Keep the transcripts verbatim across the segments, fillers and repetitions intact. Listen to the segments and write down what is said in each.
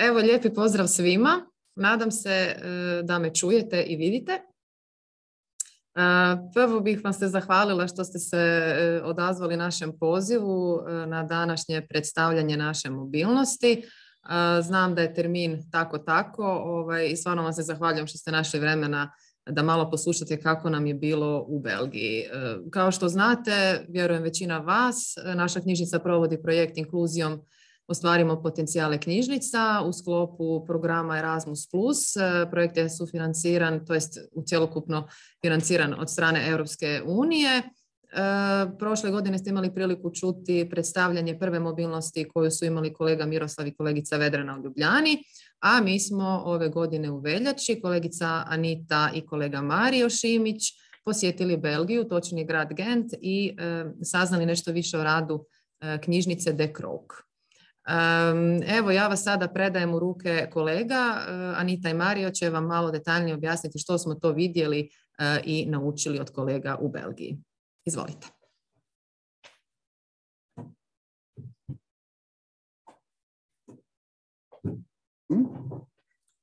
Evo, lijepi pozdrav svima. Nadam se da me čujete i vidite. Prvo bih vam se zahvalila što ste se odazvali našem pozivu na današnje predstavljanje naše mobilnosti. Znam da je termin tako tako i stvarno vam se zahvaljujem što ste našli vremena da malo poslušate kako nam je bilo u Belgiji. Kao što znate, vjerujem većina vas, naša knjižnica provodi projekt Inkluzijom ostvarimo potencijale knjižnica u sklopu programa Erasmus plus. Projekt je sufinanciran, to jest cjelokupno financiran od strane Europske unije. Prošle godine ste imali priliku čuti predstavljanje prve mobilnosti koju su imali kolega Miroslav i kolegica Vedrana u Ljubljani, a mi smo ove godine u veljači, kolegica Anita i kolega Mario Šimić, posjetili Belgiju, točnije grad Gent i e, saznali nešto više o radu e, knjižnice De Krook. Evo, ja vas sada predajem u ruke kolega. Anita i Mario će vam malo detaljnije objasniti što smo to vidjeli i naučili od kolega u Belgiji. Izvolite.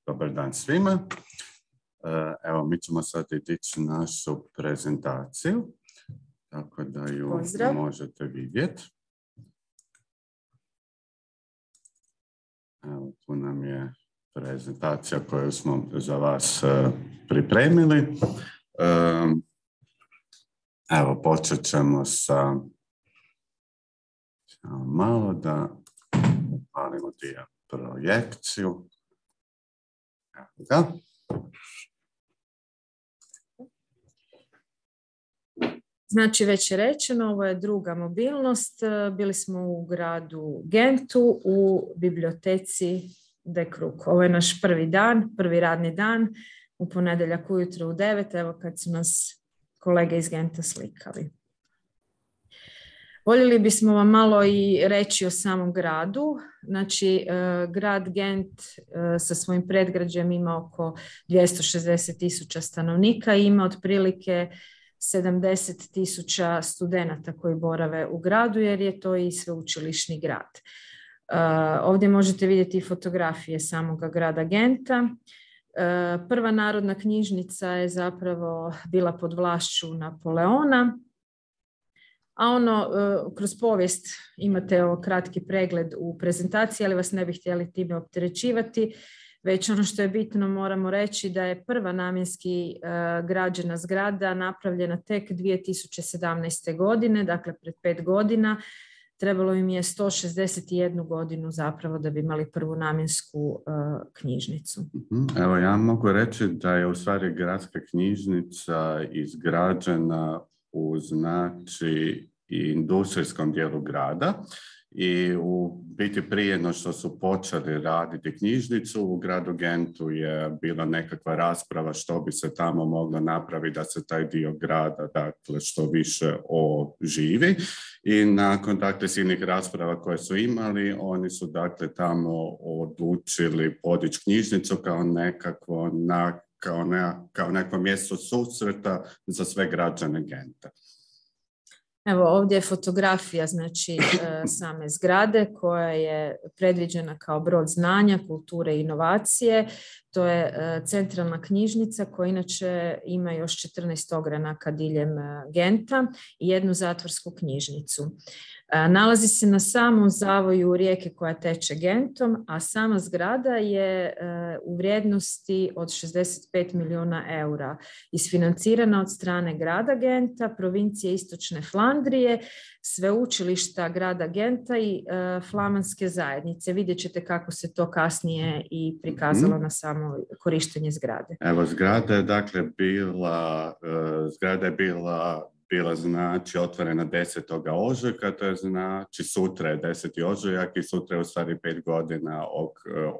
Dobar dan svima. Evo, mi ćemo sad ići našu prezentaciju, tako da ju Pozdrav. možete vidjeti. Evo, tu nam je prezentacija koju smo za vas uh, pripremili. Um, evo, počet ćemo sa malo da upalimo dio projekciju. Evo ga. Znači, već je rečeno, ovo je druga mobilnost. Bili smo u gradu Gentu u biblioteci De Krook. Ovo je naš prvi dan, prvi radni dan, u ponedjeljak ujutro u devet, evo kad su nas kolege iz Genta slikali. Voljeli bismo vam malo i reći o samom gradu. Znači, grad Gent sa svojim predgrađem ima oko dvjesto šezdeset tisuća stanovnika i ima otprilike sedamdeset tisuća studenata koji borave u gradu, jer je to i sveučilišni grad. Uh, ovdje možete vidjeti fotografije samoga grada Genta. Uh, prva narodna knjižnica je zapravo bila pod vlašću Napoleona, a ono, uh, kroz povijest imate ovo kratki pregled u prezentaciji, ali vas ne bih htjeli time opterećivati. Već ono što je bitno moramo reći da je prva namjenski uh, građena zgrada napravljena tek dvije tisuće sedamnaeste. godine, dakle pred pet godina. Trebalo im je sto šezdeset jednu godinu zapravo da bi imali prvu namjensku uh, knjižnicu. Evo, ja mogu reći da je u stvari gradska knjižnica izgrađena u znači industrijskom dijelu grada. I u biti prije no što su počeli raditi knjižnicu, u gradu Gentu je bila nekakva rasprava što bi se tamo moglo napraviti da se taj dio grada, dakle, što više oživi. I nakon, dakle, silnih rasprava koje su imali, oni su, dakle, tamo odlučili podići knjižnicu kao nekakvo, na, kao, ne, kao neko mjesto susreta za sve građane Genta. Evo, ovdje je fotografija, znači, same zgrade koja je predviđena kao brod znanja, kulture i inovacije. To je centralna knjižnica koja inače ima još četrnaest ogranaka diljem Genta i jednu zatvorsku knjižnicu. Nalazi se na samom zavoju rijeke koja teče Gentom, a sama zgrada je u vrijednosti od šezdeset pet milijuna eura isfinancirana od strane grada Genta, provincije Istočne Flandrije, sveučilišta grada Genta i flamanske zajednice. Vidjet ćete kako se to kasnije i prikazalo mm. na samo korištenje zgrade. Evo, zgrada je dakle bila, zgrada je bila bila znači otvorena desetog ožujka, to je znači sutra je deseti ožujak i sutra je u stvari pet godina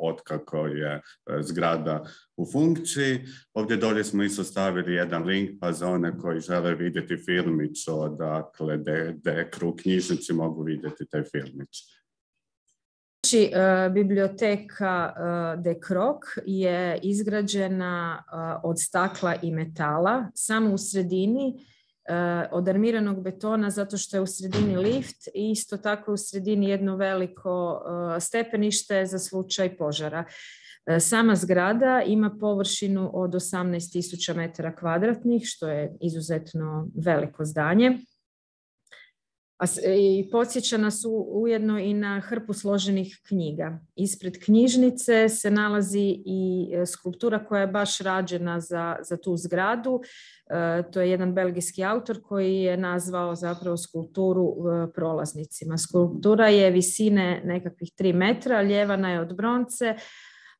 od kako je zgrada u funkciji. Ovdje dolje smo isto stavili jedan link pa za one koji žele vidjeti filmić o dakle De, De Krook knjižnici mogu vidjeti taj filmić. Znači, biblioteka De Krook je izgrađena od stakla i metala. Samo u sredini od armiranog betona zato što je u sredini lift i isto tako u sredini jedno veliko stepenište za slučaj požara. Sama zgrada ima površinu od osamnaest tisuća metara kvadratnih, što je izuzetno veliko zdanje. I podsjeća nas ujedno i na hrpu složenih knjiga. Ispred knjižnice se nalazi i skulptura koja je baš rađena za, za tu zgradu. E, to je jedan belgijski autor koji je nazvao zapravo skulpturu e, prolaznicima. Skulptura je visine nekakvih tri metra, ljevana je od bronce,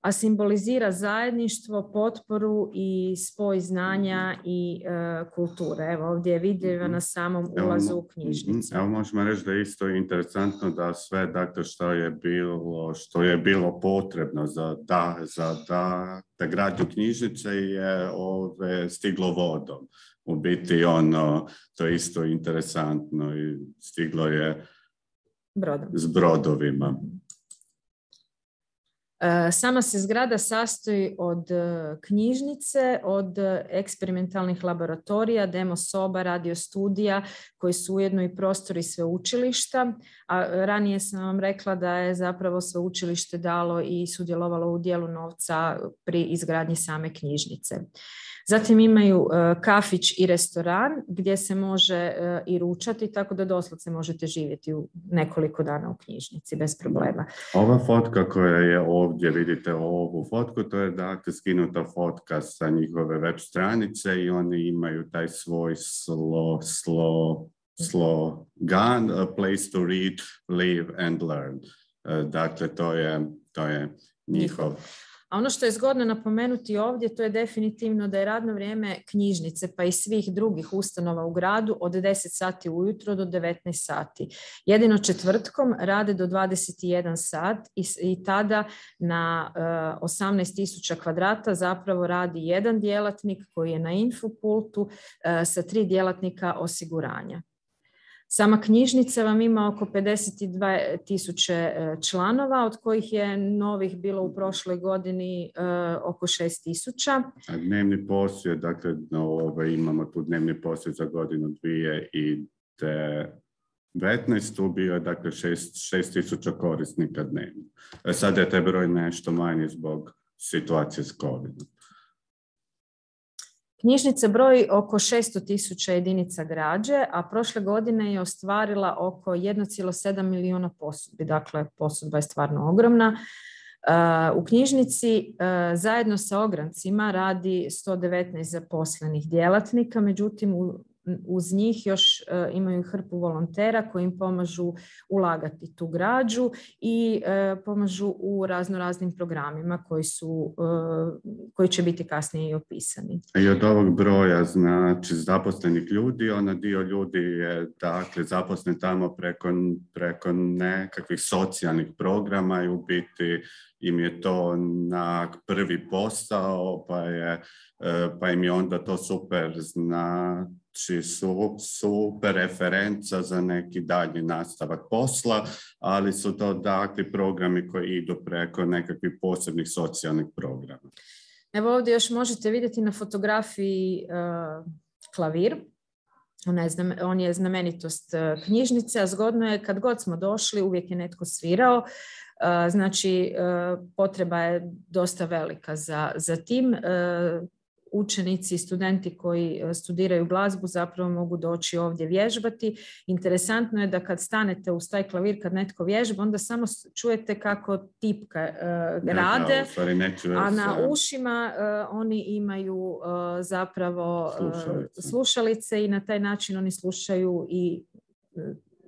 a simbolizira zajedništvo, potporu i spoj znanja i e, kulture. Evo ovdje je vidljiva na samom ulazu u knjižnicu. Evo možemo reći da je isto interesantno da sve dakle, što je bilo, što je bilo potrebno za da, za da, da gradnju knjižnice je ove, stiglo vodom. U biti ono, to je isto interesantno i stiglo je Brodom. S brodovima. Sama se zgrada sastoji od knjižnice, od eksperimentalnih laboratorija, demo soba, radio studija koji su ujedno i prostori sveučilišta. A ranije sam vam rekla da je zapravo sveučilište dalo i sudjelovalo u dijelu novca pri izgradnji same knjižnice. Zatim imaju kafić i restoran gdje se može i ručati, tako da doslovce možete živjeti u nekoliko dana u knjižnici bez problema. Ova fotka koja je ovdje, vidite ovu fotku, to je dakle skinuta fotka sa njihove web stranice i oni imaju taj svoj slo, slo, slogan, a place to read, live and learn. Dakle, to je, to je njihov. A ono što je zgodno napomenuti ovdje, to je definitivno da je radno vrijeme knjižnice pa i svih drugih ustanova u gradu od deset sati ujutro do devetnaest sati. Jedino četvrtkom rade do dvadeset jedan sat i, i tada na uh, osamnaest tisuća kvadrata zapravo radi jedan djelatnik koji je na infopultu uh, sa tri djelatnika osiguranja. Sama knjižnica vam ima oko pedeset dvije tisuće članova, od kojih je novih bilo u prošloj godini uh, oko šest tisuća. A dnevni posjet, dakle no, ove, imamo tu dnevni posjet za godinu dvije i devetnaest, tu bio je dakle šest tisuća korisnika dnevno. Sada je taj broj nešto manji zbog situacije s covidom. Knjižnica broji oko šesto tisuća jedinica građe, a prošle godine je ostvarila oko jedan zarez sedam milijuna posudbi. Dakle, posudba je stvarno ogromna. U knjižnici zajedno sa ograncima radi sto devetnaest zaposlenih djelatnika, međutim uz njih još imaju hrpu volontera koji im pomažu ulagati tu građu i pomažu u razno raznim programima koji, su, koji će biti kasnije i opisani. I od ovog broja znači zaposlenih ljudi, ona dio ljudi je dakle zaposlen tamo preko, preko nekakvih socijalnih programa i u biti im je to na prvi posao, pa, je, pa im je onda to super znači su super referenca za neki dalji nastavak posla, ali su to dakle programi koji idu preko nekakvih posebnih socijalnih programa. Evo ovdje još možete vidjeti na fotografiji uh, klavir. On je, znam, on je znamenitost uh, knjižnice, a zgodno je kad god smo došli, uvijek je netko svirao. Uh, znači, uh, potreba je dosta velika za, za tim. Uh, Učenici i studenti koji studiraju glazbu zapravo mogu doći ovdje vježbati. Interesantno je da kad stanete uz taj klavir, kad netko vježba, onda samo čujete kako tipka uh, rade, ja, a na ušima uh, oni imaju uh, zapravo uh, slušalice. slušalice i na taj način oni slušaju i uh,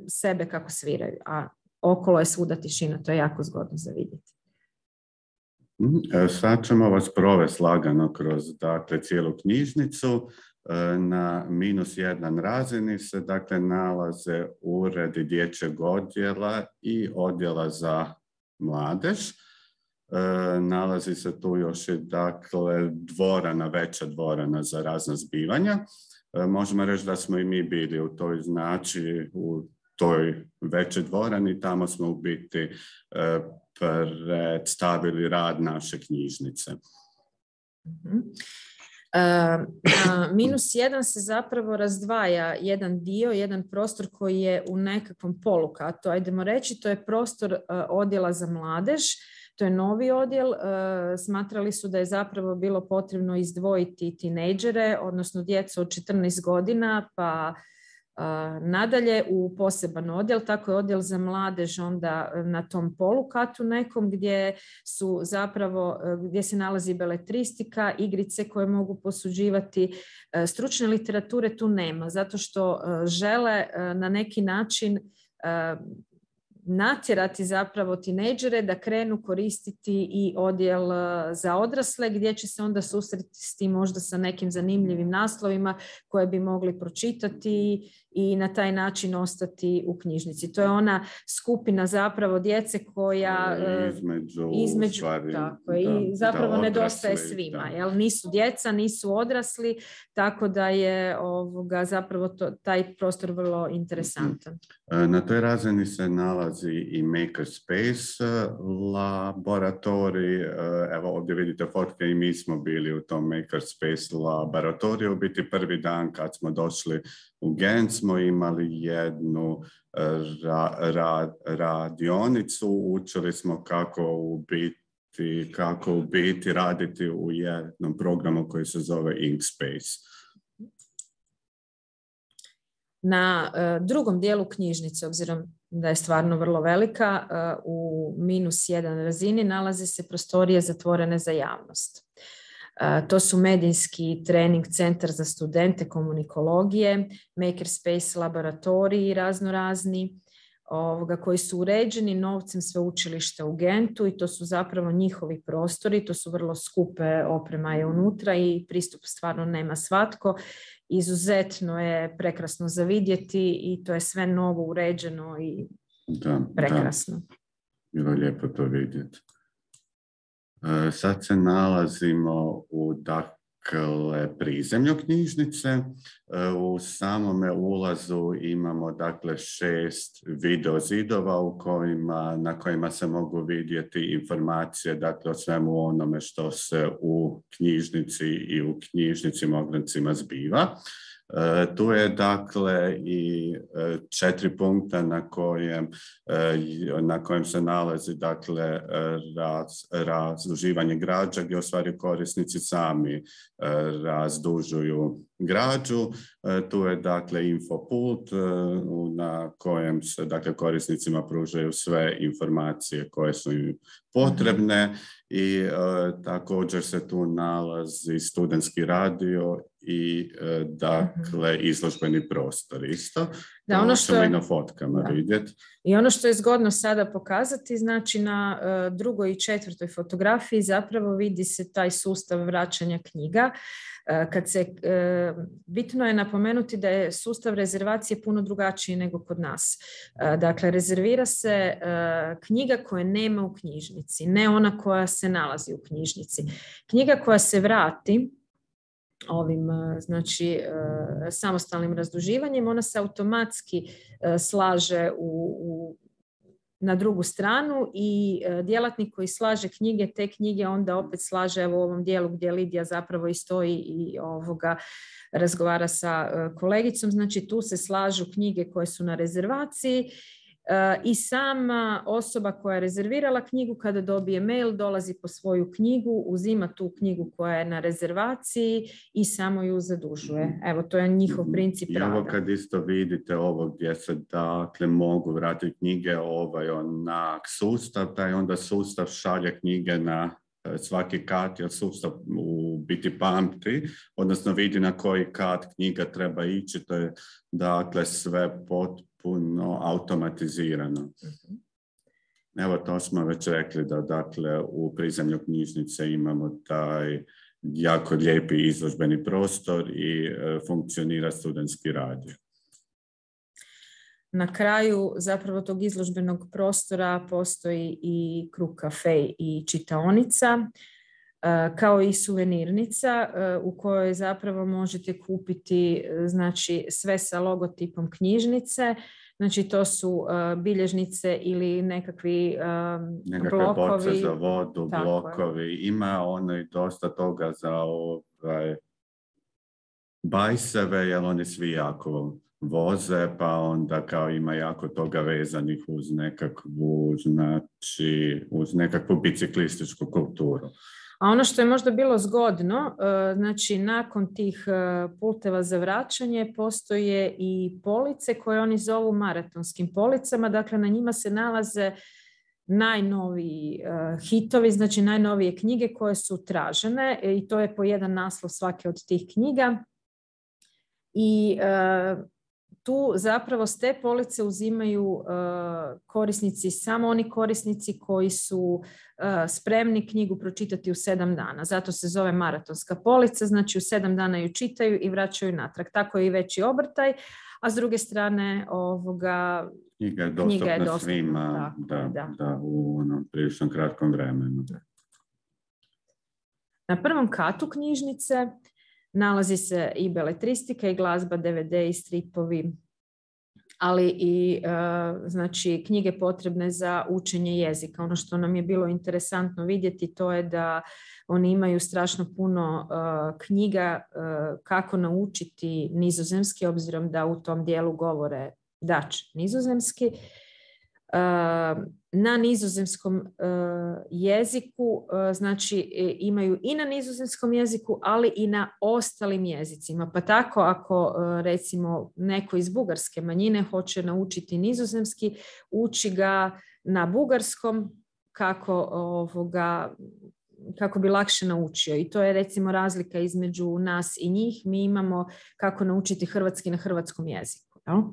sebe kako sviraju, a okolo je svuda tišina, to je jako zgodno za vidjeti. Sad ćemo vas provesti lagano kroz dakle, cijelu knjižnicu. Na minus jedan razini se dakle, nalaze uredi dječjeg odjela i odjela za mladež. Nalazi se tu još i dakle, dvorana, veća dvorana za razna zbivanja. Možemo reći da smo i mi bili u toj znači u toj većoj dvorani, tamo smo u biti predstavili rad naše knjižnice. Na minus jedan se zapravo razdvaja jedan dio, jedan prostor koji je u nekakvom polukatu. Ajdemo reći, to je prostor odjela za mladež. To je novi odjel. Smatrali su da je zapravo bilo potrebno izdvojiti tinejdžere, odnosno djecu od četrnaest godina, pa nadalje u poseban odjel. Tako je odjel za mladež onda na tom polukatu nekom gdje su zapravo, gdje se nalazi beletristika, igrice koje mogu posuđivati. Stručne literature tu nema, zato što žele na neki način natjerati zapravo tinejdžere da krenu koristiti i odjel za odrasle gdje će se onda susresti možda sa nekim zanimljivim naslovima koje bi mogli pročitati i na taj način ostati u knjižnici. To je ona skupina zapravo djece koja između, između stvari, tako, da, i zapravo da, nedostaje svima. Jel? Nisu djeca, nisu odrasli, tako da je ovoga, zapravo to, taj prostor vrlo interesantan. Na toj razini se nalazi i Makerspace laboratorij. Evo ovdje vidite fotke i mi smo bili u tom Makerspace laboratoriju. U biti prvi dan kad smo došli u Gent smo imali jednu ra, ra, radionicu. Učili smo kako u biti, kako u biti raditi u jednom programu koji se zove Inkspace. Na uh, drugom dijelu knjižnice, obzirom da je stvarno vrlo velika, uh, u minus jedan razini nalaze se prostorije zatvorene za javnost. Uh, to su medijski trening centar za studente komunikologije, Makerspace laboratoriji raznorazni, ovoga, koji su uređeni novcem sveučilišta u Gentu i to su zapravo njihovi prostori, to su vrlo skupe, oprema je unutra i pristup stvarno nema svatko. Izuzetno je prekrasno za vidjeti i to je sve novo uređeno i da, prekrasno. Da. Bilo je lijepo to vidjeti. E, sad se nalazimo u dakle prizemlju knjižnice. E, u samome ulazu imamo dakle šest video zidova u kojima, na kojima se mogu vidjeti informacije dakle o svemu onome što se u knjižnici i u knjižnicima oglancima zbiva. E, tu je dakle i e, četiri punkta na kojem, e, na kojem se nalazi dakle raz, razduživanje građa gdje u stvari korisnici sami e, razdužuju građu. E, tu je dakle infopult e, na kojem se dakle korisnicima pružaju sve informacije koje su im potrebne i e, također se tu nalazi studentski radio i e, dakle izložbeni prostor isto. Da, ono što je, i na fotkama da. vidjeti. I ono što je zgodno sada pokazati, znači na uh, drugoj i četvrtoj fotografiji zapravo vidi se taj sustav vraćanja knjiga. Uh, kad se, uh, bitno je napomenuti da je sustav rezervacije puno drugačiji nego kod nas. Uh, dakle, rezervira se uh, knjiga koje nema u knjižnici, ne ona koja se nalazi u knjižnici. Knjiga koja se vrati ovim znači samostalnim razduživanjem, ona se automatski slaže u, u, na drugu stranu i djelatnik koji slaže knjige, te knjige onda opet slaže evo u ovom dijelu gdje Lidija zapravo i stoji i ovoga razgovara sa kolegicom, znači tu se slažu knjige koje su na rezervaciji. I sama osoba koja je rezervirala knjigu kada dobije mail dolazi po svoju knjigu, uzima tu knjigu koja je na rezervaciji i samo ju zadužuje. Evo, to je njihov princip rada. I ovo kad isto vidite ovo gdje se dakle mogu vratiti knjige ovaj onak sustav, taj onda sustav šalje knjige na svaki kat, jer sustav u biti pamti, odnosno vidi na koji kat knjiga treba ići, to je dakle sve potpuno automatizirano. Uh-huh. Evo to smo već rekli da dakle u prizemlju knjižnice imamo taj jako lijepi izložbeni prostor i e, funkcionira studentski radio. Na kraju zapravo tog izložbenog prostora postoji i krug kafe i čitaonica, kao i suvenirnica u kojoj zapravo možete kupiti znači, sve sa logotipom knjižnice. Znači to su bilježnice ili nekakvi nekakve blokovi. Nekakve boce za vodu, tako blokovi. Je. Ima ono i dosta toga za ovaj, bajseve, jer oni svi jako voze, pa onda kao ima jako toga vezanih uz nekakvu, znači, uz nekakvu biciklističku kulturu. A ono što je možda bilo zgodno, znači nakon tih pulteva za vraćanje postoje i police koje oni zovu maratonskim policama, dakle na njima se nalaze najnoviji hitovi, znači najnovije knjige koje su tražene i to je po jedan naslov svake od tih knjiga i tu zapravo s te police uzimaju uh, korisnici, samo oni korisnici koji su uh, spremni knjigu pročitati u sedam dana. Zato se zove maratonska polica, znači u sedam dana ju čitaju i vraćaju natrag. Tako je i veći obrtaj, a s druge strane ovoga, knjiga je dostupna, knjiga je dostupna svima tako, da, da. Da, u onom prilično kratkom vremenu. Na prvom katu knjižnice nalazi se i beletristika i glazba, D V D i stripovi, ali i uh, znači, knjige potrebne za učenje jezika. Ono što nam je bilo interesantno vidjeti to je da oni imaju strašno puno uh, knjiga uh, kako naučiti nizozemski, obzirom da u tom dijelu govore Dutch nizozemski. Uh, na nizozemskom uh, jeziku, uh, znači imaju i na nizozemskom jeziku, ali i na ostalim jezicima. Pa tako ako uh, recimo neko iz bugarske manjine hoće naučiti nizozemski, uči ga na bugarskom kako, ovoga, kako bi lakše naučio. I to je recimo razlika između nas i njih. Mi imamo kako naučiti hrvatski na hrvatskom jeziku. No?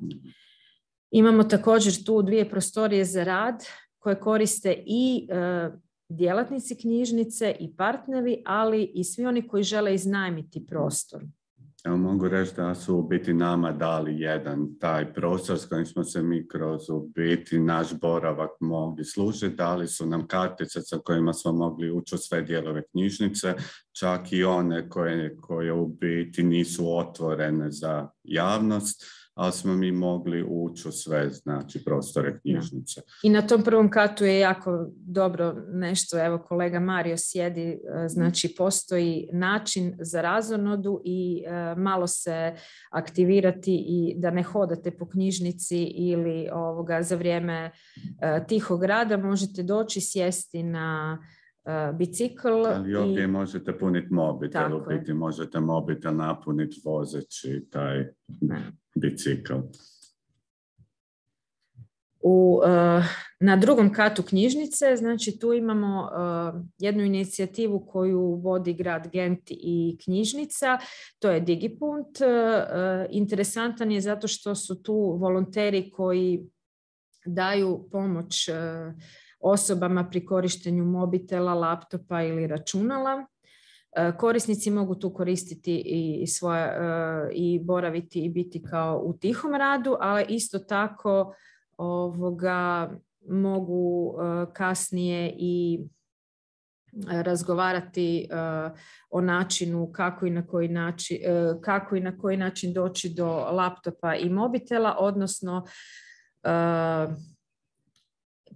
Imamo također tu dvije prostorije za rad koje koriste i e, djelatnici knjižnice i partneri, ali i svi oni koji žele iznajmiti prostor. Evo mogu reći da su u biti nama dali jedan taj prostor s kojim smo se mi kroz u biti naš boravak mogli služiti. Dali su nam kartice sa kojima smo mogli ući u sve dijelove knjižnice, čak i one koje, koje u biti nisu otvorene za javnost, ali smo mi mogli ući u sve, znači, prostore knjižnice. I na tom prvom katu je jako dobro nešto, evo kolega Mario sjedi, znači postoji način za razonodu i uh, malo se aktivirati i da ne hodate po knjižnici ili ovoga, za vrijeme uh, tihog rada možete doći sjesti na Uh, bicikl. Ali ovdje i možete puniti mobitel, u biti možete mobitel napuniti vozeći taj ne. bicikl. U, uh, na drugom katu knjižnice, znači tu imamo uh, jednu inicijativu koju vodi grad Gent i knjižnica, to je Digipunt. Uh, interesantan je zato što su tu volonteri koji daju pomoć uh, osobama pri korištenju mobitela, laptopa ili računala. Korisnici mogu tu koristiti i, svoje, i boraviti i biti kao u tihom radu, ali isto tako ovoga, mogu kasnije i razgovarati o načinu kako i na koji način, kako i na koji način doći do laptopa i mobitela, odnosno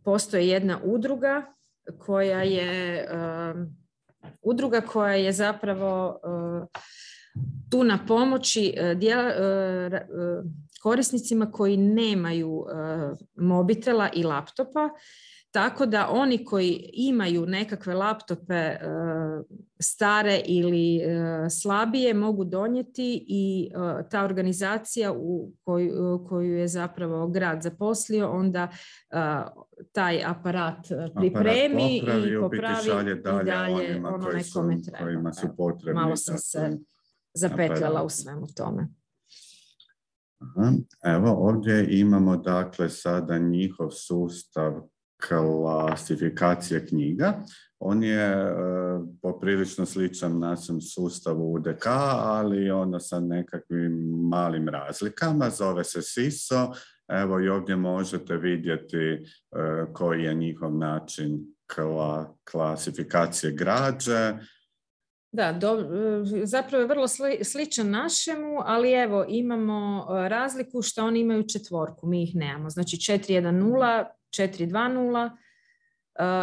postoji jedna udruga koja je uh, udruga koja je zapravo uh, tu na pomoći uh, djela, uh, uh, korisnicima koji nemaju uh, mobitela i laptopa, tako da oni koji imaju nekakve laptope uh, stare ili uh, slabije mogu donijeti i uh, ta organizacija u koju, uh, koju je zapravo grad zaposlio onda uh, taj aparat pripremi aparat popravi, i popravi šalje dalje, i dalje onima onome koji su, kome treba. Kojima su potrebni. Malo sam se zapetljala aparat u svemu tome. Aha. Evo ovdje imamo dakle sada njihov sustav klasifikacije knjiga. On je e, poprilično sličan našem sustavu U D K, ali ono sa nekakvim malim razlikama. Zove se S I S O. Evo i ovdje možete vidjeti e, koji je njihov način kla, klasifikacije građe. Da, do, zapravo je vrlo sli, sličan našemu, ali evo imamo razliku što oni imaju četvorku, mi ih nemamo. Znači četiri jedan nula, četiri dva nula,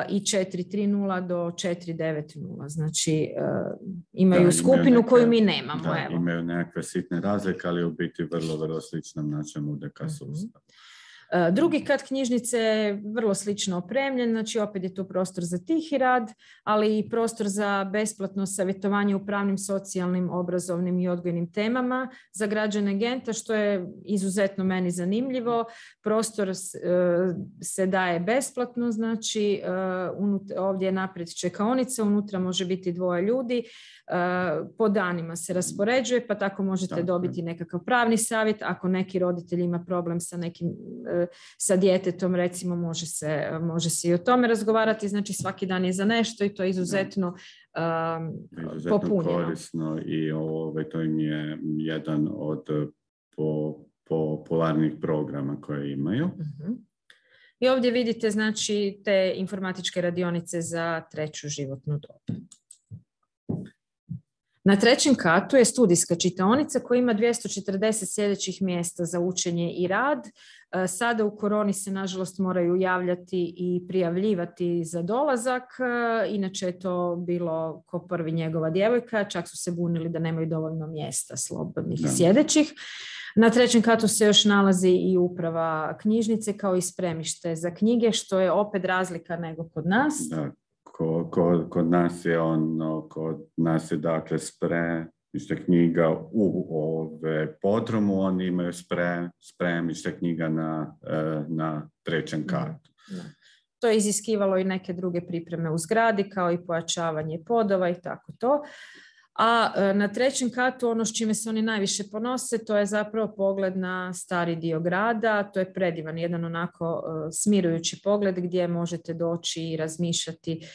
i četiri tri nula do četiri devet nula. Znači imaju da, skupinu imaju neke, koju mi nemamo. Da, evo. imaju nekakve sitne razlike, ali u biti vrlo, vrlo sličnom našem U D K sustavu. Drugi kat knjižnice je vrlo slično opremljen, znači opet je tu prostor za tihi rad, ali i prostor za besplatno savjetovanje u pravnim, socijalnim, obrazovnim i odgojnim temama za građane Genta, što je izuzetno meni zanimljivo. Prostor se daje besplatno, znači ovdje je naprijed čekaonica, unutra može biti dvoje ljudi, po danima se raspoređuje, pa tako možete tako dobiti nekakav pravni savjet. Ako neki roditelj ima problem sa nekim sa djetetom, recimo, može se, može se i o tome razgovarati. Znači svaki dan je za nešto i to je izuzetno, um, izuzetno popunjeno. Korisno i ovo, to im je jedan od po, popularnih programa koje imaju. Uh-huh. I ovdje vidite, znači, te informatičke radionice za treću životnu dob. Na trećem katu je studijska čitaonica koja ima dvjesto četrdeset sljedećih mjesta za učenje i rad. Sada u koroni se nažalost moraju javljati i prijavljivati za dolazak. Inače je to bilo ko prvi njegova djevojka. Čak su se bunili da nemaju dovoljno mjesta slobodnih i sjedećih. Na trećem katu se još nalazi i uprava knjižnice kao i spremište za knjige, što je opet razlika nego kod nas. Da. Kod, kod nas je ono, kod nas je dakle spremište knjiga u ove podrumu, oni imaju spre, spremište knjiga na, na trećem katu. Da. To je iziskivalo i neke druge pripreme u zgradi, kao i pojačavanje podova i tako to. A na trećem katu ono s čime se oni najviše ponose, to je zapravo pogled na stari dio grada. To je predivan, jedan onako smirujući pogled gdje možete doći i razmišljati,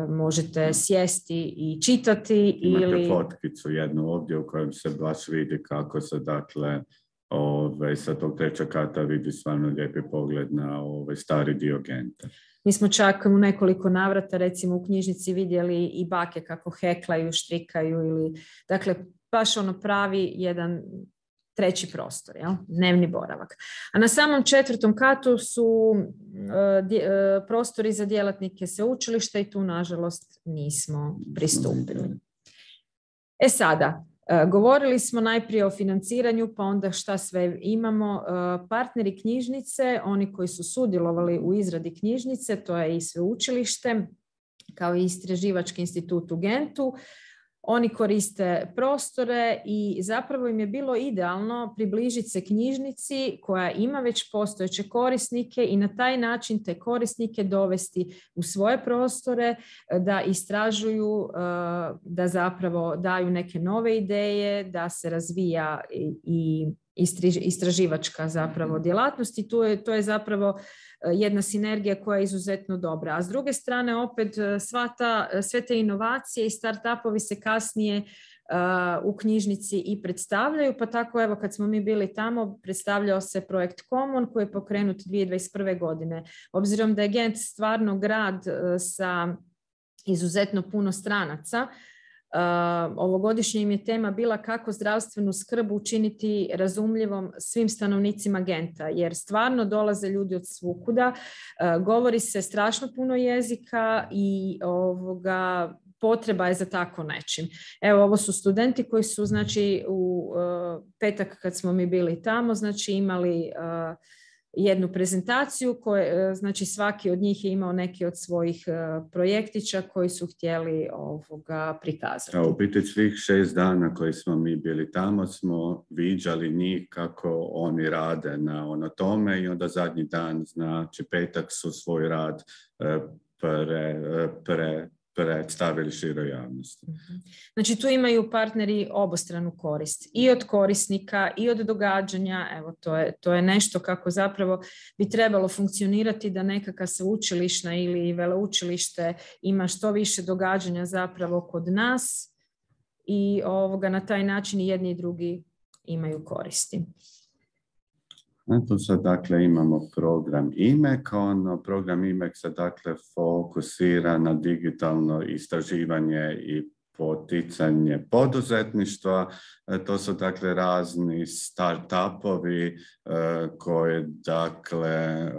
možete sjesti i čitati. Imate ili... fotkicu jednu ovdje u kojem se baš vidi kako se, dakle, ove, sa tog trećeg kata vidi stvarno lijepi pogled na ovaj stari dio Genta. Mi smo čak u nekoliko navrata, recimo u knjižnici, vidjeli i bake kako heklaju, štrikaju ili, dakle, baš ono pravi jedan treći prostor, jel? Dnevni boravak. A na samom četvrtom katu su uh, dje, uh, prostori za djelatnike sveučilišta i tu, nažalost, nismo pristupili. E sada, uh, govorili smo najprije o financiranju, pa onda šta sve imamo. Uh, partneri knjižnice, oni koji su sudjelovali u izradi knjižnice, to je i sveučilište, kao i istraživački institut u Gentu. Oni koriste prostore i zapravo im je bilo idealno približiti se knjižnici koja ima već postojeće korisnike i na taj način te korisnike dovesti u svoje prostore, da istražuju, da zapravo daju neke nove ideje, da se razvija i istraživačka zapravo djelatnost i to je, to je zapravo jedna sinergija koja je izuzetno dobra. A s druge strane opet sva ta, sve te inovacije i start-upovi se kasnije uh, u knjižnici i predstavljaju, pa tako evo kad smo mi bili tamo predstavljao se projekt Common koji je pokrenut dvije tisuće dvadeset prve godine. Obzirom da je Gent stvarno grad uh, sa izuzetno puno stranaca, Uh, ovogodišnje im je tema bila kako zdravstvenu skrb učiniti razumljivom svim stanovnicima Genta, jer stvarno dolaze ljudi od svukuda, uh, govori se strašno puno jezika i ovoga, potreba je za tako nečim. Evo, ovo su studenti koji su, znači, u uh, petak kad smo mi bili tamo, znači imali uh, jednu prezentaciju koje, znači svaki od njih je imao neki od svojih projektića koji su htjeli ovoga prikazati. U biti svih šest dana koji smo mi bili tamo smo viđali njih kako oni rade na ono tome i onda zadnji dan, znači petak, su svoj rad pre, pre, predstavili široj javnosti. Znači tu imaju partneri obostranu korist i od korisnika i od događanja. Evo, to je, to je nešto kako zapravo bi trebalo funkcionirati, da nekakva sveučilišna ili veleučilište ima što više događanja zapravo kod nas i ovoga, na taj način i jedni i drugi imaju koristi. Tu sad, dakle, imamo program I M E C. Ono, program I M E C se, dakle, fokusira na digitalno istraživanje i poticanje poduzetništva. To su dakle razni start-upovi koji dakle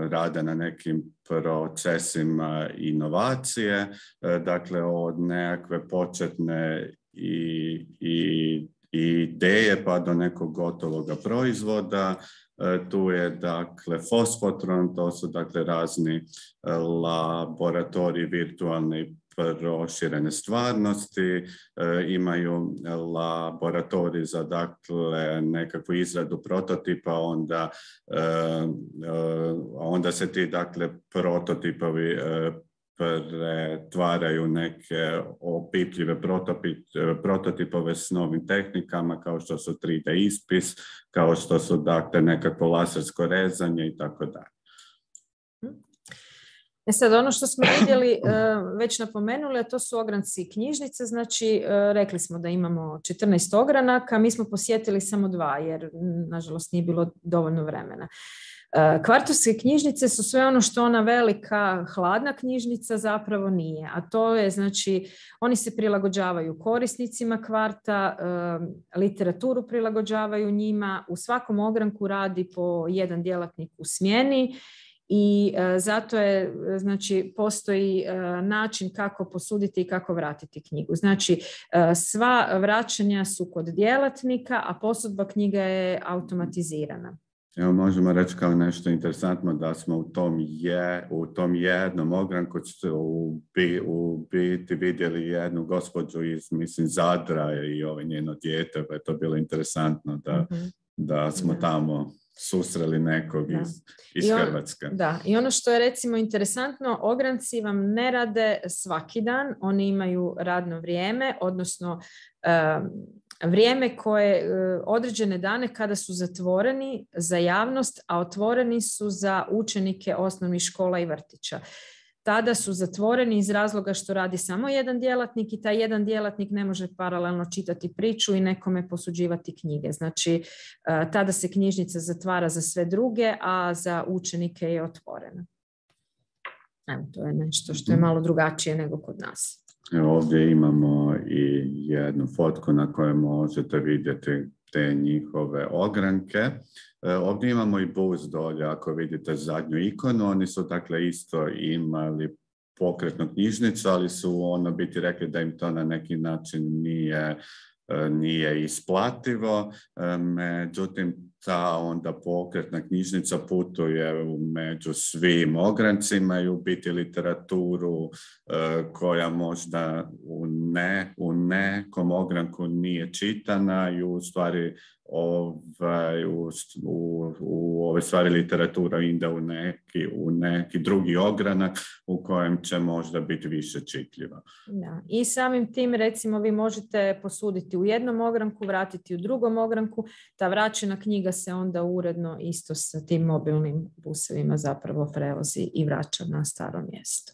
rade na nekim procesima inovacije, dakle od nekakve početne i, i, i ideje pa do nekog gotovog proizvoda. Tu je dakle Fospotron, to su dakle razni laboratoriji virtualne i proširene stvarnosti, e, imaju laboratorij za dakle nekakvu izradu prototipa, onda, e, e, onda se ti dakle prototipovi e, pretvaraju neke opipljive prototipove s novim tehnikama kao što su tri D ispis, kao što su dakle nekakvo lasersko rezanje i tako dalje. E sad, ono što smo vidjeli, već napomenuli, a to su ogranci knjižnice, znači rekli smo da imamo četrnaest ogranaka, mi smo posjetili samo dva jer nažalost nije bilo dovoljno vremena. Kvartovske knjižnice su sve ono što ona velika hladna knjižnica zapravo nije, a to je znači oni se prilagođavaju korisnicima kvarta, literaturu prilagođavaju njima, u svakom ogranku radi po jedan djelatnik u smjeni. I e, zato je, znači, postoji e, način kako posuditi i kako vratiti knjigu. Znači, e, sva vraćanja su kod djelatnika, a posudba knjiga je automatizirana. Evo, možemo reći kao nešto interesantno da smo u tom, je, u tom jednom ogranku u, u biti vidjeli jednu gospođu iz, mislim, Zadra i ovo njeno dijete, pa je to bilo interesantno da, mm-hmm. da smo da. tamo susreli nekog iz, iz on, Hrvatske. Da, i ono što je recimo interesantno, ogranci vam ne rade svaki dan, oni imaju radno vrijeme, odnosno um, vrijeme koje, uh, određene dane kada su zatvoreni za javnost, a otvoreni su za učenike osnovnih škola i vrtića. Tada su zatvoreni iz razloga što radi samo jedan djelatnik i taj jedan djelatnik ne može paralelno čitati priču i nekome posuđivati knjige. Znači, tada se knjižnica zatvara za sve druge, a za učenike je otvorena. Evo, to je nešto što je malo drugačije nego kod nas. Evo, ovdje imamo i jednu fotku na kojoj možete vidjeti te njihove ogranke. Ovdje imamo i bus dolje, ako vidite zadnju ikonu, oni su dakle isto imali pokretnu knjižnicu, ali su ono biti rekli da im to na neki način nije, nije isplativo. Međutim, ta onda pokretna knjižnica putuje među svim ograncima i u biti literaturu koja možda u, ne, u nekom ogranku nije čitana i u stvari ovaj, u, u, u ove stvari literatura ide u neki, u neki drugi ogranak u kojem će možda biti više čitljiva. Da. I samim tim recimo vi možete posuditi u jednom ogranku, vratiti u drugom ogranku, ta vraćena knjiga se onda uredno isto sa tim mobilnim busevima zapravo prevozi i vraća na staro mjesto.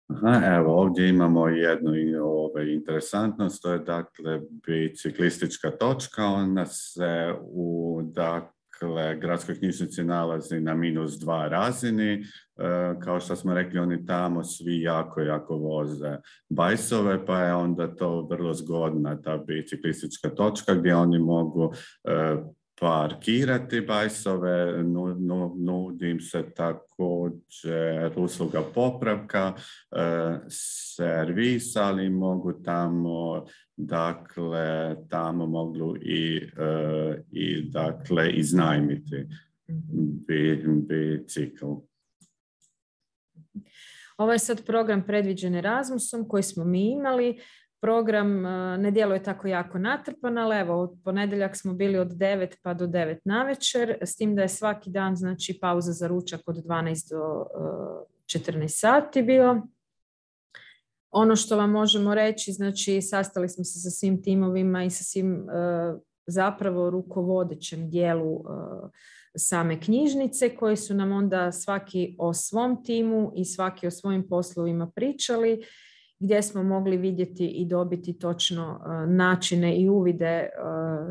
Aha, evo, ovdje imamo jednu ove, interesantnost, to je dakle biciklistička točka, ona se u dakle, gradskoj knjižnici nalazi na minus dva razini, e, kao što smo rekli, oni tamo svi jako, jako voze bajsove, pa je onda to vrlo zgodna ta biciklistička točka gdje oni mogu e, parkirati bajsove, nudi im se također usluga popravka, servis, ali mogu tamo, dakle, tamo mogu i, i dakle, iznajmiti bicikl. Ovo je sad program predviđen Erasmusom koji smo mi imali. Program ne djeluje tako jako natrpan, ali evo, od ponedjeljak smo bili od devet pa do devet navečer, s tim da je svaki dan, znači, pauza za ručak od dvanaest do četrnaest sati bio. Ono što vam možemo reći, znači, sastali smo se sa svim timovima i sa svim zapravo rukovodećem dijelu same knjižnice, koji su nam onda svaki o svom timu i svaki o svojim poslovima pričali, gdje smo mogli vidjeti i dobiti točno načine i uvide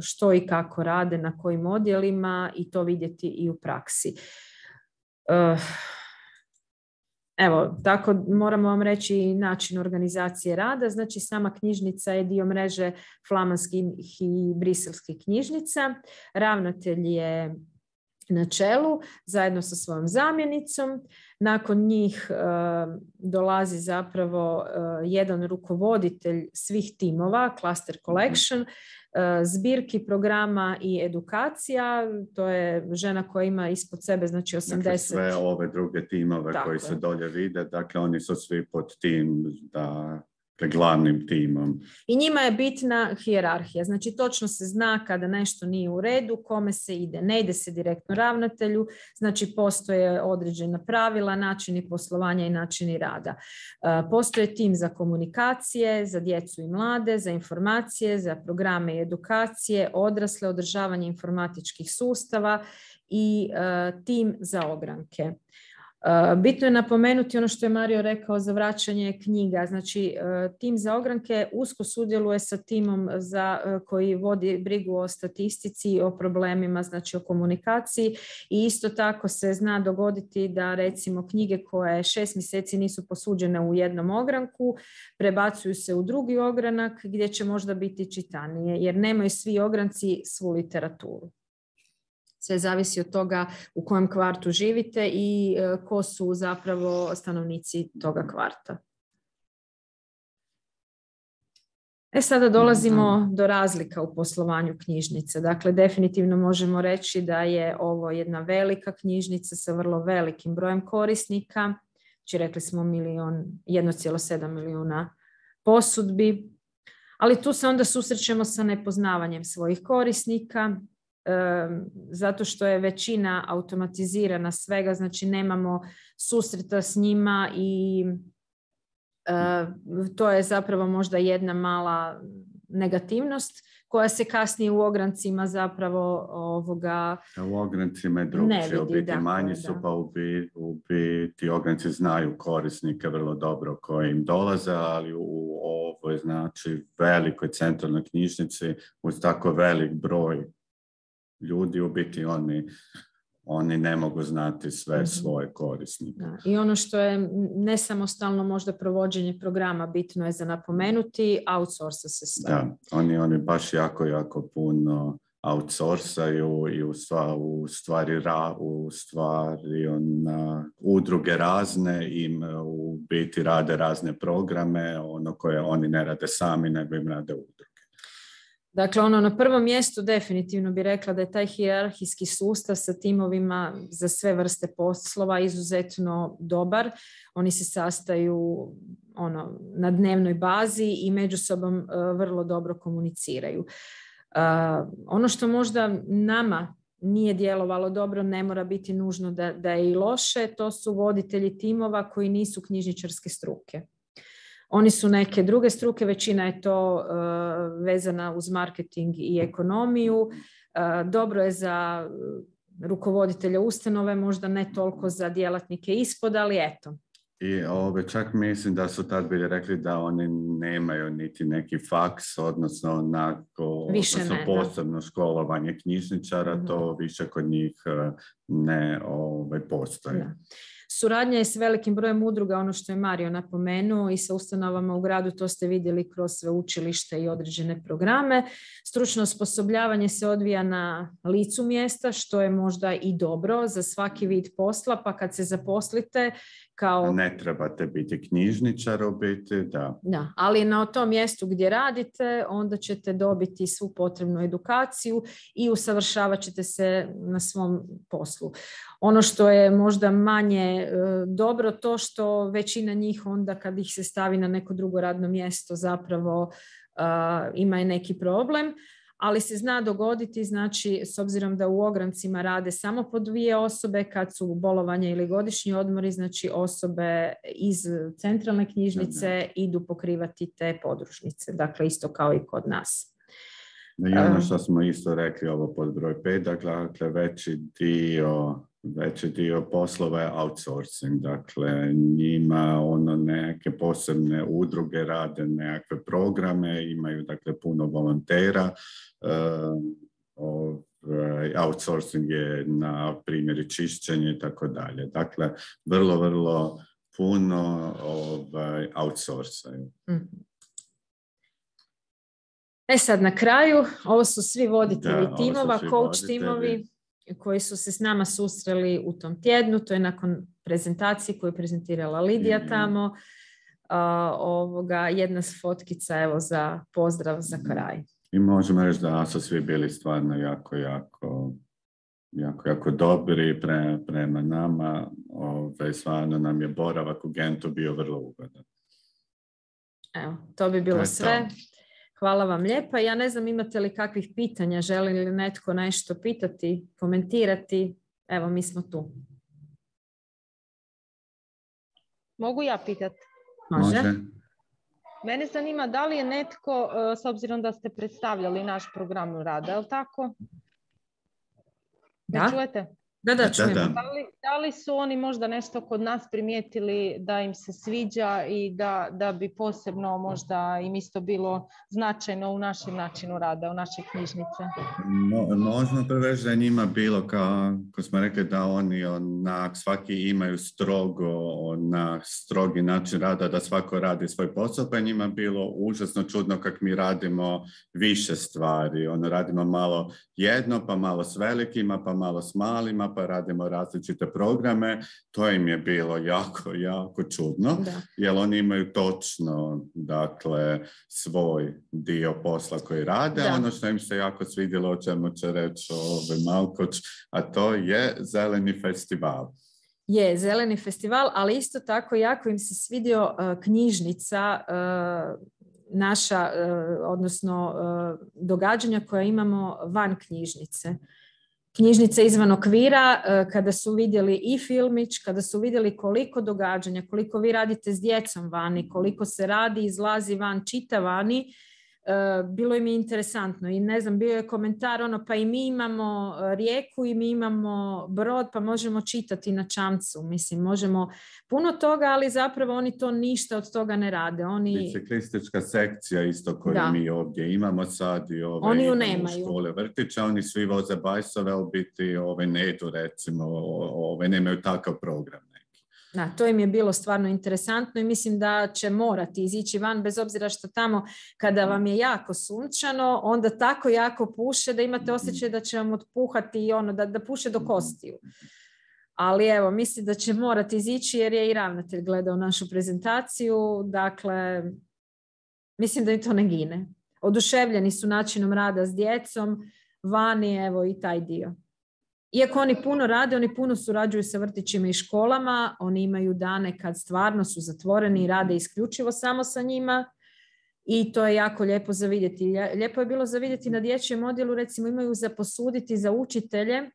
što i kako rade, na kojim odjelima i to vidjeti i u praksi. Evo, tako moramo vam reći i način organizacije rada. Znači, sama knjižnica je dio mreže flamanskih i briselskih knjižnica. Ravnatelj je na čelu zajedno sa svojom zamjenicom. Nakon njih e, dolazi zapravo e, jedan rukovoditelj svih timova, Cluster Collection, e, zbirki programa i edukacija. To je žena koja ima ispod sebe, znači osamdeset... Dakle, sve ove druge timove Tako koji je. se dolje vide, dakle oni su svi pod tim da... glavnim timom. I njima je bitna hijerarhija. Znači, točno se zna kada nešto nije u redu, kome se ide. Ne ide se direktno ravnatelju, znači postoje određena pravila, načini poslovanja i načini rada. Postoje tim za komunikacije, za djecu i mlade, za informacije, za programe i edukacije, odrasle, održavanje informatičkih sustava i tim za ogranke. Bitno je napomenuti ono što je Mario rekao za vraćanje knjiga. Znači, tim za ogranke usko sudjeluje sa timom za, koji vodi brigu o statistici, o problemima, znači o komunikaciji i isto tako se zna dogoditi da recimo knjige koje šest mjeseci nisu posuđene u jednom ogranku prebacuju se u drugi ogranak gdje će možda biti čitanije jer nemaju svi ogranci svu literaturu. Sve zavisi od toga u kojem kvartu živite i ko su zapravo stanovnici toga kvarta. E sada dolazimo do razlika u poslovanju knjižnice. Dakle, definitivno možemo reći da je ovo jedna velika knjižnica sa vrlo velikim brojem korisnika. Znači, rekli smo milion, jedan zarez sedam milijuna posudbi. Ali tu se onda susrećemo sa nepoznavanjem svojih korisnika, zato što je većina automatizirana svega, znači nemamo susreta s njima i to je zapravo možda jedna mala negativnost koja se kasnije u ograncima zapravo ovoga u ograncima je drugčije, u biti dakle, manji su, da. Pa u biti, u biti ogranci znaju korisnike vrlo dobro koji im dolaze, ali u ovoj znači velikoj centralnoj knjižnici uz tako velik broj ljudi u biti oni, oni ne mogu znati sve mm-hmm. svoje korisnike. Da. I ono što je nesamostalno možda provođenje programa bitno je za napomenuti, outsourca se sve. Da, oni, oni baš jako, jako puno outsourcaju i u, stva, u stvari, ra, u stvari ona, udruge razne im u biti rade razne programe, ono koje oni ne rade sami, nego im rade udruge. Dakle, ono na prvom mjestu definitivno bi rekla da je taj hijerarhijski sustav sa timovima za sve vrste poslova izuzetno dobar. Oni se sastaju ono, na dnevnoj bazi i među sobom uh, vrlo dobro komuniciraju. Uh, ono što možda nama nije djelovalo dobro, ne mora biti nužno da, da je i loše, to su voditelji timova koji nisu knjižničarske struke. Oni su neke druge struke, većina je to uh, vezana uz marketing i ekonomiju. Uh, dobro je za rukovoditelja ustanove, možda ne toliko za djelatnike ispod, ali eto. I ove, čak mislim da su tad bili rekli da oni nemaju niti neki faks, odnosno, onako, odnosno ne, posebno da. školovanje knjižničara, mm-hmm. to više kod njih ne ove, postoji. Da. Suradnja je s velikim brojem udruga, ono što je Mario napomenuo, i sa ustanovama u gradu, to ste vidjeli kroz sveučilište i određene programe. Stručno osposobljavanje se odvija na licu mjesta, što je možda i dobro za svaki vid posla, pa kad se zaposlite kao... Ne trebate biti knjižničar u biti, da. Da, ali na tom mjestu gdje radite, onda ćete dobiti svu potrebnu edukaciju i usavršavat ćete se na svom poslu. Ono što je možda manje e, dobro, to što većina njih onda kad ih se stavi na neko drugo radno mjesto zapravo e, ima i neki problem, ali se zna dogoditi, znači s obzirom da u ograncima rade samo po dvije osobe, kad su bolovanja ili godišnji odmori, znači osobe iz centralne knjižnice da, da. idu pokrivati te podružnice, dakle isto kao i kod nas. I ono što smo isto rekli, ovo pod broj pet, dakle veći dio veći dio poslova je outsourcing, dakle njima ono neke posebne udruge rade nekakve programe, imaju dakle puno volontera, uh, outsourcing je na primjeri čišćenje i tako dalje. Dakle, vrlo, vrlo puno ovaj, outsourcaju. Mm-hmm. E sad na kraju, ovo su svi voditelji da, timova, svi coach voditelji. timovi koji su se s nama susreli u tom tjednu. To je nakon prezentacije koju je prezentirala Lidija mm-hmm. tamo. Uh, ovoga, jedna fotkica evo za pozdrav za kraj. I možemo reći da su svi bili stvarno jako, jako, jako, jako dobri pre, prema nama. Ove, stvarno nam je boravak u Gentu bio vrlo ugodan. Evo, to bi bilo to sve. To. Hvala vam lijepa. Ja ne znam imate li kakvih pitanja, želi li netko nešto pitati, komentirati. Evo, mi smo tu. Mogu ja pitati? Može. Može. Mene zanima da li je netko, s obzirom da ste predstavljali naš program rada, je li tako? Da. Ne čujete? Da, da, čujemo. Da li, da li su oni možda nešto kod nas primijetili da im se sviđa i da, da bi posebno možda im isto bilo značajno u našem načinu rada, u naše knjižnice? Mo, možemo prvo reći da je njima bilo, kao ko smo rekli, da oni onak, svaki imaju strogo, onak, strogi način rada, da svako radi svoj posao, pa je njima bilo užasno čudno kako mi radimo više stvari. Ono, radimo malo jedno, pa malo s velikima, pa malo s malima, pa radimo različite programe. To im je bilo jako, jako čudno, da. Jer oni imaju točno, dakle, svoj dio posla koji rade. Da. Ono što im se jako svidjelo, o čemu će reći ovaj Malkoč, a to je Zeleni festival. Je, Zeleni festival, ali isto tako jako im se svidio uh, knjižnica uh, naša, uh, odnosno uh, događanja koja imamo van knjižnice. Knjižnica izvan okvira, kada su vidjeli i filmić, kada su vidjeli koliko događanja, koliko vi radite s djecom vani, koliko se radi, izlazi van, čita vani, bilo im je interesantno. I ne znam, bio je komentar ono, pa i mi imamo rijeku i mi imamo brod, pa možemo čitati na čamcu. Mislim, možemo puno toga, ali zapravo oni to ništa od toga ne rade. Oni... Biciklistička sekcija isto koju da. Mi ovdje imamo sad i ove oni ju nemaju. Škole vrtića, oni svi voze bajsove, ali biti ove ne idu recimo, ove nemaju takav program. Da, to im je bilo stvarno interesantno i mislim da će morati izići van, bez obzira što tamo kada vam je jako sunčano, onda tako jako puše da imate osjećaj da će vam otpuhati i ono, da, da puše do kostiju. Ali evo, mislim da će morati izići jer je i ravnatelj gledao našu prezentaciju, dakle, mislim da im to ne gine. Oduševljeni su načinom rada s djecom, vani, evo i taj dio. Iako oni puno rade, oni puno surađuju sa vrtićima i školama, oni imaju dane kad stvarno su zatvoreni i rade isključivo samo sa njima i to je jako lijepo za vidjeti. Lijepo je bilo za vidjeti na dječjem odjelu, recimo imaju za posuditi za učitelje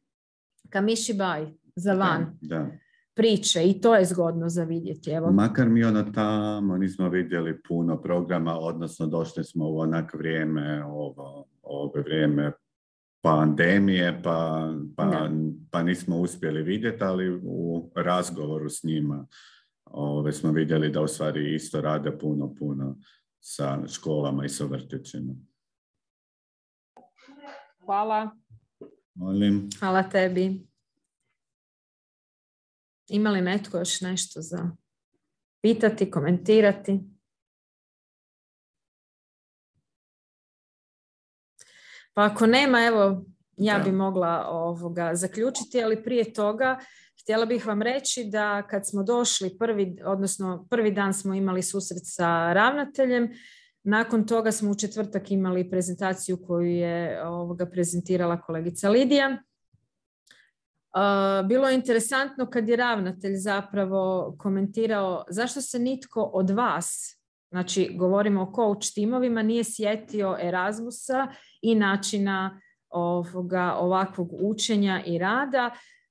kamishibai za van da, da. priče i to je zgodno za vidjeti. Evo. Makar mi ono tamo nismo vidjeli puno programa, odnosno došli smo u onak vrijeme, ovo, ovo vrijeme pandemije, pa, pa, pa nismo uspjeli vidjeti, ali u razgovoru s njima ove, smo vidjeli da u stvari isto rade puno, puno sa školama i sa vrtićima. Hvala. Molim. Hvala tebi. Ima li netko još nešto za pitati, komentirati? Pa ako nema, evo, ja bi mogla ovoga zaključiti, ali prije toga htjela bih vam reći da kad smo došli prvi, odnosno prvi dan smo imali susret sa ravnateljem, nakon toga smo u četvrtak imali prezentaciju koju je ovoga prezentirala kolegica Lidija. Bilo je interesantno kad je ravnatelj zapravo komentirao zašto se nitko od vas, znači govorimo o coach timovima, nije sjetio Erasmusa i načina ovoga, ovakvog učenja i rada,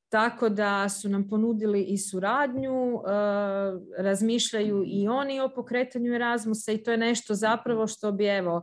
tako da su nam ponudili i suradnju, razmišljaju i oni o pokretanju Erasmusa i to je nešto zapravo što bi evo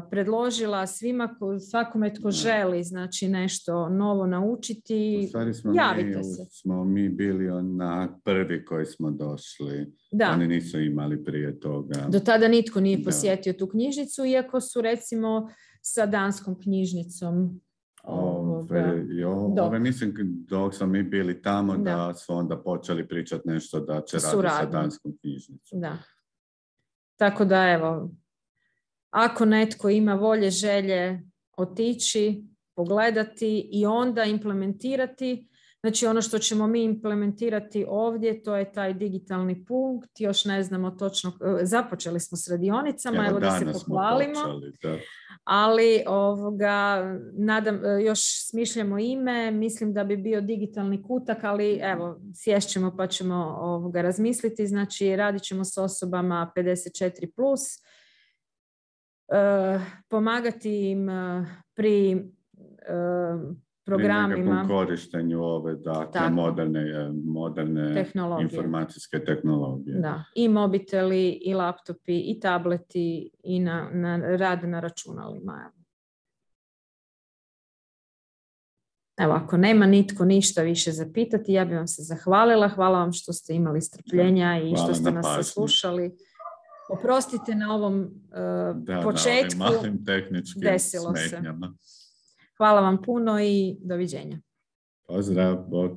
predložila svima, svakome tko želi znači nešto novo naučiti, u stvari smo javite mi, se. Smo mi bili onak prvi koji smo došli, da. Oni nisu imali prije toga. Do tada nitko nije posjetio da. Tu knjižnicu, iako su recimo sa danskom knjižnicom Ove, jo, ove, mislim, dok smo mi bili tamo, da, da su onda počeli pričati nešto da će raditi sa danskom knjižnicom. Da. Tako da, evo, ako netko ima volje, želje otići, pogledati i onda implementirati, znači ono što ćemo mi implementirati ovdje, to je taj digitalni punkt, još ne znamo točno, započeli smo s radionicama, evo, evo da se pohvalimo, počeli, da. Ali ovoga, nadam, još smišljamo ime, mislim da bi bio digitalni kutak, ali evo, sješćemo pa ćemo ovoga razmisliti, znači radit ćemo s osobama pedeset četiri plus, uh, pomagati im uh, pri uh, programima. Pri korištenju ove, dakle, moderne, moderne informacijske tehnologije. Da, i mobiteli, i laptopi, i tableti, i na, na rad na računalima. Evo, ako nema nitko ništa više zapitati, ja bih vam se zahvalila. Hvala vam što ste imali strpljenja i hvala što ste nas saslušali. Oprostite na ovom uh, da, početku. Na ovim malim tehničkim desilo smetnjama. Se. Hvala vam puno i doviđenja. Pozdrav, bok.